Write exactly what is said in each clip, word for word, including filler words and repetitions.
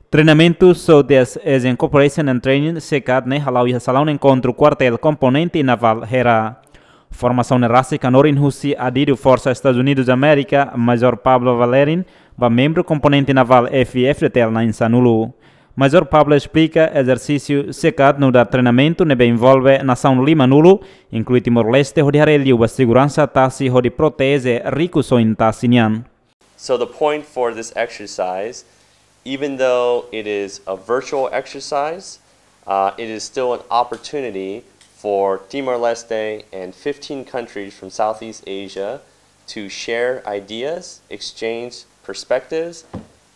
Treinamentu Southeast Asian Cooperation and Training, SECAT, ne'e hala'o iha salaun enkontru kuartél komponente navál Hera. Formasaun ne'e rasik hanorin husi adidu Forsa Estadus Unidus Amérika, Major Pablo Valerin, ba membru komponente navál F I F D T L na'in-sanulu. Major Pablo esplika ezersísiu SECAT nu'udar treinamentu ne'ebé envolve nasaun lima-nulu, inklui Timor-Leste, hodi haree liu ba seguransa tasi hodi proteje rikusoin tasi nian. So the point for this exercise, even though it is a virtual exercise, uh, it is still an opportunity for Timor-Leste and fifteen countries from Southeast Asia to share ideas, exchange perspectives,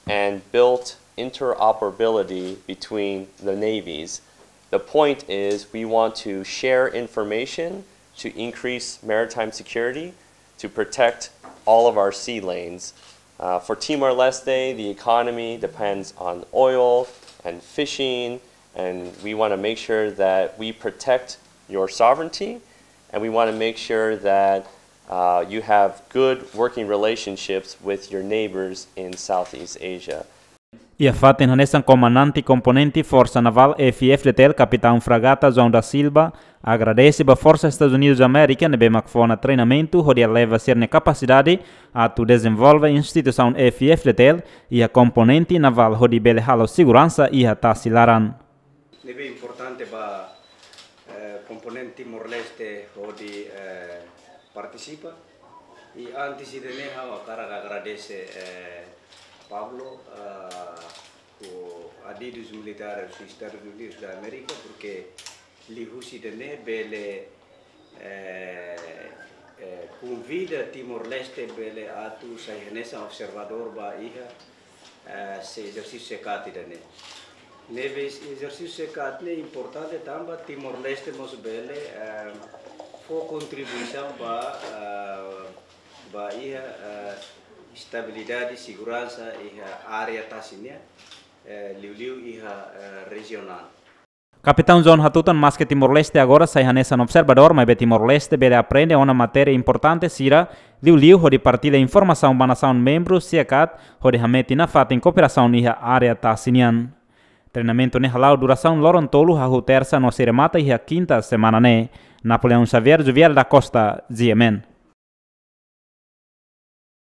and build interoperability between the navies. The point is we want to share information to increase maritime security, to protect all of our sea lanes. Uh, for Timor-Leste, the economy depends on oil and fishing, and we want to make sure that we protect your sovereignty, and we want to make sure that uh, you have good working relationships with your neighbors in Southeast Asia. Iha fatin hanesan, komandante komponente Forsa Navál F I F D T L, Kapitaun Fragata João da Silva, agradese ba Forsa Estadus Unidus Amérika ne'ebé mak fó ona treinamentu hodi eleva sira-nia kapasidade atu dezenvolve instituisaun F I F D T L iha komponente navál hodi bele halo seguransa iha tasi laran. Ne'ebé importante ba, eh, komponente Timor-Leste hodi, eh, partisipa. I antes ida-ne'e ha'u hakarak agradese, eh, Pablo, eh, ho adidus militares Estadus Unidus da Amérika, porque liuhusi ida-ne'e bele, eh, eh, konvida Timor-Leste bele atu sai hanesan observadór ba iha, eh, se ezersísiu SECAT ida-ne'e. Ne'ebé ezersísiu SECAT ne'e importante tanba Timor-Leste mós bele, eh, fó kontribuisaun ba, eh, ba iha, eh, estabilidade, seguransa iha área tasi nian, eh, liuliu iha, eh, rejionál. Kapitaun João hatutan maske Timor-Leste agora sai hanesan observadór, maibé Timor-Leste bele aprende ona matéria importante sira, liuliu hodi partilla informasaun ba nasaun membru SECAT hodi hametin nafatin kooperasaun iha área tasi nian. Treinamentu ne'e hala'o durasaun loron tolu, hahú tersa no sei remata iha kinta semana ne'e. Napoleão Xavier, Juvial da Costa, G M N.